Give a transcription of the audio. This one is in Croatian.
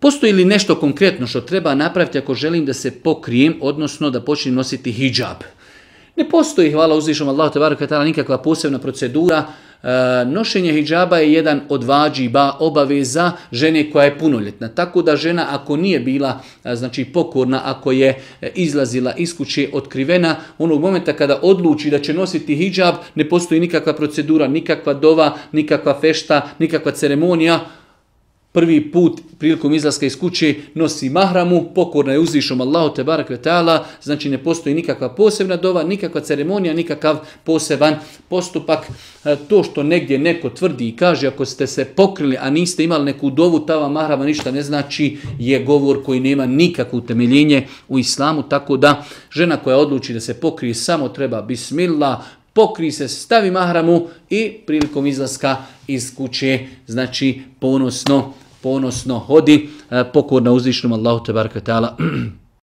Postoji li nešto konkretno što treba napraviti ako želim da se pokrijem, odnosno da počnem nositi hidžab? Ne postoji, hvala uzvišom Allahu tebareke ve taala, nikakva posebna procedura. Nošenje hidžaba je jedan od vađiba, obaveza žene koja je punoljetna. Tako da žena ako nije bila pokorna, ako je izlazila iz kuće otkrivena, onog momenta kada odluči da će nositi hidžab, ne postoji nikakva procedura, nikakva dova, nikakva fešta, nikakva ceremonija. Prvi put prilikom izlaska iz kuće nosi mahramu, pokorna je uzvišom Allahu tebareke ve taala, znači ne postoji nikakva posebna dova, nikakva ceremonija, nikakav poseban postupak. To što negdje neko tvrdi i kaže ako ste se pokrili, a niste imali neku dovu, ta vam mahrama ništa ne znači, je govor koji nema nikakvo utemeljenje u islamu, tako da žena koja odluči da se pokrije samo treba bismillah, pokri se, stavi mahramu i prilikom izlaska iz kuće, znači ponosno hodi, pokorna uzvišenom Allahu tebareke ve taala.